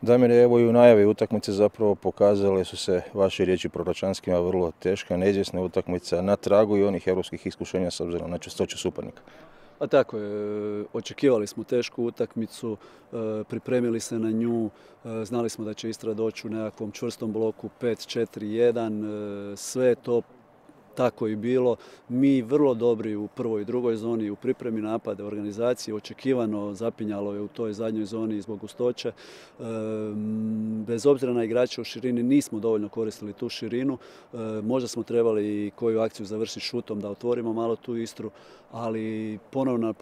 Damire, evo i u najavi utakmice zapravo pokazale su se vaše riječi proročanskima vrlo teška, neizvjesna utakmica na tragu i onih europskih iskušenja s obzirom na čestoću suparnika. Pa tako je, očekivali smo tešku utakmicu, pripremili se na nju, znali smo da će Istra doći u nekakvom čvrstom bloku 5-4-1, sve je to tako i bilo. Mi vrlo dobri u prvoj i drugoj zoni, u pripremi napada, organizaciji, očekivano zapinjalo je u toj zadnjoj zoni zbog gustoće. Bez obzira na igrače u širini nismo dovoljno koristili tu širinu. Možda smo trebali koju akciju završiti šutom da otvorimo malo tu Istru, ali ponovno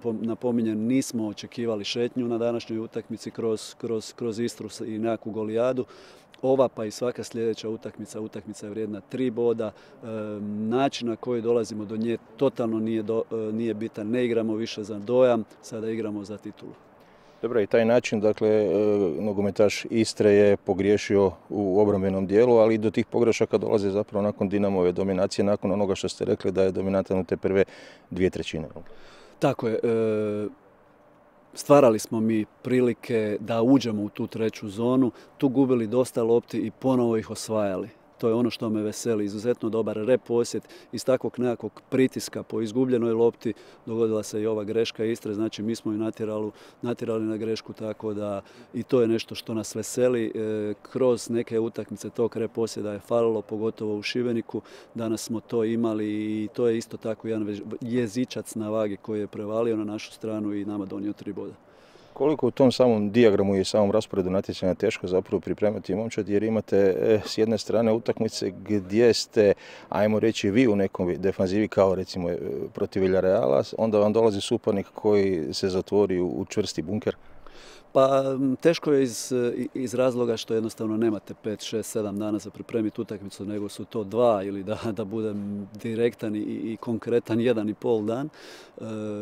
napominjem nismo očekivali šetnju na današnjoj utakmici kroz Istru i nekakvu golijadu. Ova pa i svaka sljedeća utakmica je vrijedna 3 boda. Način na koji dolazimo do nje totalno nije bitan. Ne igramo više za dojam, sada igramo za titulu. Dobro, i taj način, dakle, nogometaš Istre je pogriješio u obrambenom dijelu, ali i do tih pogrešaka dolaze zapravo nakon Dinamove dominacije, nakon onoga što ste rekli da je dominantan u te prve 2/3. Tako je. Stvarali smo mi prilike da uđemo u tu treću zonu, tu gubili dosta lopti i ponovo ih osvajali. To je ono što me veseli, izuzetno dobar reposjet. Iz takvog nekakvog pritiska po izgubljenoj lopti dogodila se i ova greška Istre, znači mi smo ju natjerali na grešku, tako da i to je nešto što nas veseli. Kroz neke utakmice tog reposjeda je falilo, pogotovo u Šibeniku. Danas smo to imali i to je isto tako jedan jezičac na vagi koji je prevalio na našu stranu i nama donio 3 boda. Koliko u tom samom dijagramu i samom rasporedu natjecanja teško zapravo pripremati momčad, jer imate s jedne strane utakmice gdje ste, ajmo reći, vi u nekom defanzivi kao recimo protiv Villareala, onda vam dolazi suparnik koji se zatvori u čvrsti bunker? Pa teško je iz razloga što jednostavno nemate 5, 6, 7 dana za pripremiti utakmicu, nego su to 2 ili da budem direktan i konkretan 1,5 dan.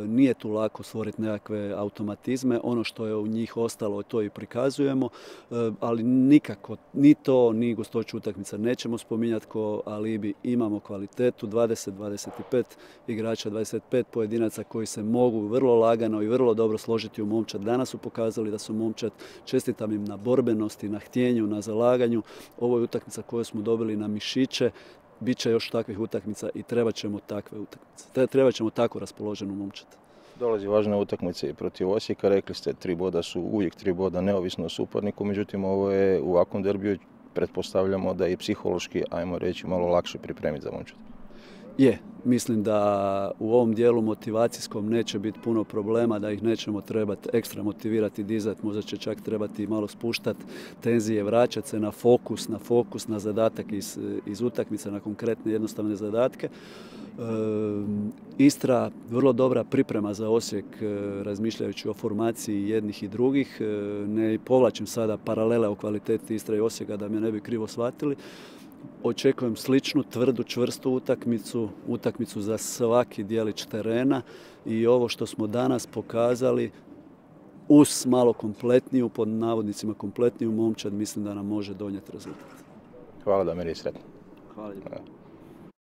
Nije tu lako stvoriti nekakve automatizme, ono što je u njih ostalo to i prikazujemo, ali nikako ni to, ni gustoću utakmica nećemo spominjati ko alibi. Imamo kvalitetu, 20-25 igrača, 25 pojedinaca koji se mogu vrlo lagano i vrlo dobro složiti u momčad. Danas su pokazali da su momčad, čestitam im na borbenosti, na htjenju, na zalaganju. Ovo je utakmica koju smo dobili na mišiće. Biće još takvih utakmica i trebat ćemo takve utakmice. Trebat ćemo tako raspoloženu momčad. Dolazi važna utakmica i protiv Osijeka, rekli ste 3 boda su uvijek 3 boda neovisno o suparniku, međutim ovo je u ovakvom derbiju, pretpostavljamo da je i psihološki, ajmo reći, malo lakše pripremiti za momčad. Je, mislim da u ovom dijelu motivacijskom neće biti puno problema, da ih nećemo trebati ekstra motivirati, dizati, možda će čak trebati malo spuštati tenzije, vraćati se na fokus, na zadatak iz utakmice, na konkretne jednostavne zadatke. Istra vrlo dobra priprema za Osijek, razmišljajući o formaciji jednih i drugih. Ne povlačim sada paralele o kvaliteti Istre i Osijeka da me ne bi krivo shvatili. Očekujem sličnu, tvrdu, čvrstu utakmicu za svaki dijelić terena i ovo što smo danas pokazali uz malo kompletniju, pod navodnicima kompletniju momčad, mislim da nam može donijeti rezultat. Hvala, Damire, i sretno. Hvala lijepo.